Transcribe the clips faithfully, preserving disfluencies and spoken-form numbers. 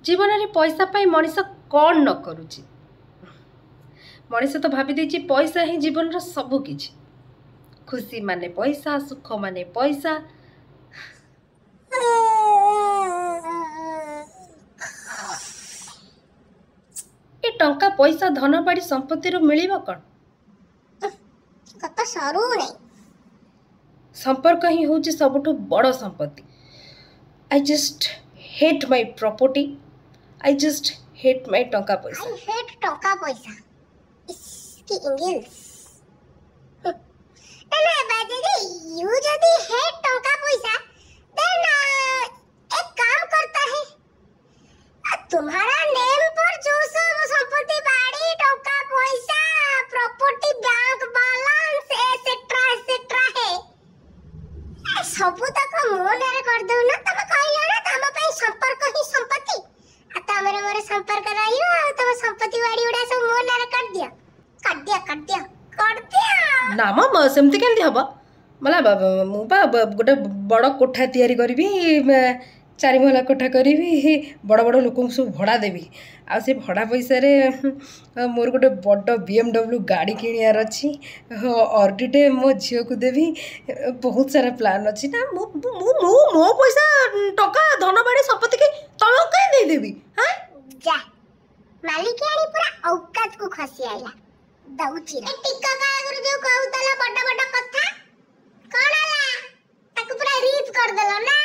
ଜୀବନରେ ପଇସା ପାଇଁ ମଣିଷ କ'ଣ ନ କରୁଛି। ମଣିଷ ତ ଭାବି ଦେଇଛି ପଇସା ହିଁ ଜୀବନର ସବୁ କିଛି। ଖୁସି ମାନେ ପଇସା, ସୁଖ ମାନେ ପଇସା। ଏ ଟଙ୍କା ପଇସା ଧନ ବାଡ଼ି ସମ୍ପତ୍ତିରୁ ମିଳିବ କ'ଣ? କଥା ସରୁନାହିଁ। ସମ୍ପର୍କ ହିଁ ହେଉଛି ସବୁଠୁ ବଡ଼ ସମ୍ପତ୍ତି। I just hate my property, I just hate my ଟଙ୍କା ପଇସା। I hate ଟଙ୍କା ପଇସା। ଇସ୍, କି ଇଂଲିଶ! ନା ନା, ଦିଦି, you ଯଦି ହେଟ୍ ଟଙ୍କା ପଇସା, then एक काम करता है, तुम्हारा नेम पर जो सब संपत्ति बाड़ी टंका पैसा property bank balance etcetera etcetera है, ସବୁ ତକ ମୋ ନାଁରେ କରିଦଉନ। ତମେ କହିଲ ନା ତମ ପାଇଁ ସମ୍ପର୍କ ହିଁ ସମ୍ପତ୍ତି, ଆଉ ତମର ମୋର ସମ୍ପର୍କ ରହିବ, ଆଉ ତମ ସମ୍ପତ୍ତି ବାଡ଼ି ଗୁଡ଼ା ସବୁ ମୋ ନାଁରେ କରିଦିଅ, କରିଦିଅ, କରିଦିଅ, କରିଦିଅ। ନା ମ, ସେମିତି କେମିତି ହବ? ମଲା, ମୁଁ ପା ଗୋଟେ ବଡ଼ କୋଠା ତିଆରି କରିବି, ଚାରି ମହଲା କୋଠା କରିବି, ବଡ଼ ବଡ଼ ଲୋକଙ୍କୁ ସବୁ ଭଡ଼ା ଦେବି, ଆଉ ସେ ଭଡ଼ା ପଇସାରେ ମୋର ଗୋଟେ ବଡ଼ ବି ଏମ୍ ଡବ୍ଲ୍ୟୁ ଗାଡ଼ି କିଣିବାର ଅଛି, ଅଡ଼ିଟେ ମୋ ଝିଅକୁ ଦେବି। ବହୁତ ସାରା ପ୍ଲାନ୍ ଅଛି। ନା, ମୁଁ ମୁଁ ମୁଁ ମୋ ପଇସା ଟଙ୍କା ଧନ ବାଡ଼ି ସମ୍ପତ୍ତିକି ତମକୁ କାହିଁ ଦେଇଦେବି? ହାଁ, ଯା ମାଲିକିଆଣି ପୁରା ଔକାତକୁ ଖସି ଆଇଲା। ଦଉଛି ଟିକକ ଆଗରୁ ଯୋଉ କହୁଥିଲା ବଡ ବଡ କଥା, କଣ ହେଲା? ତାକୁ ପୁରା ରିପ୍ କରିଦେଲ ନା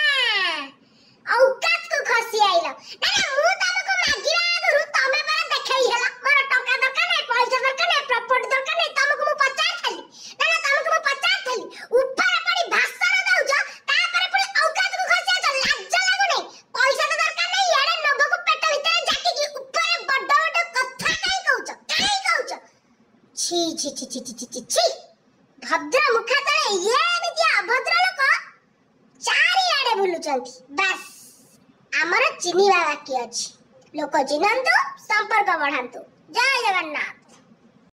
ଔକାତକୁ ଖସି ଆଇଲ? ନା ନା, ମୁଁ ତମକୁ ମାଗିବା ଆଗରୁ ତମେ ପରା ଦେଖେଇ ହେଲ, ମୋର ଟଙ୍କା ଦରକାର ନାହିଁ, ପଇସା ଦରକାର ନାହିଁ, ପ୍ରପର୍ଟି ଦରକାର ନାହିଁ। ତମକୁ ମୁଁ ପଚାରିଥିଲି? ନା ନା, ତମକୁ ମୁଁ ପଚାରିଥିଲି? ଉପରେ ପଡି ଭାଷଣ ଦଉଛ, ତାପରେ ପୁଣି ଔକାତକୁ ଖସି ଆଉଛ। ଲାଜ ଲାଗୁନି? ପଇସା ତ ଦରକାର ନାହିଁ, ଇଆଡେ ନବକୁ ପେଟ ଭିତରେ ଜାକିକି ଉପରେ ବଡ ବଡ କଥା କାଇଁ କହୁଛ? କାଇଁ କହୁଛ? ଛି ଛି ଛି ଛି ଛି ଛି ଛି। ଭଦ୍ର ମୁଖା ତଳେ ଇଏ ଏମିତି ଅଭଦ୍ର ଲୋକ ଚାରିଆଡେ ବୁଲୁଛନ୍ତି। ବାସ୍, ଆମର ଚିହ୍ନିବା ବାକି ଅଛି। ଲୋକ ଚିହ୍ନନ୍ତୁ, ସମ୍ପର୍କ ବଢାନ୍ତୁ। ଜୟ ଜଗନ୍ନାଥ।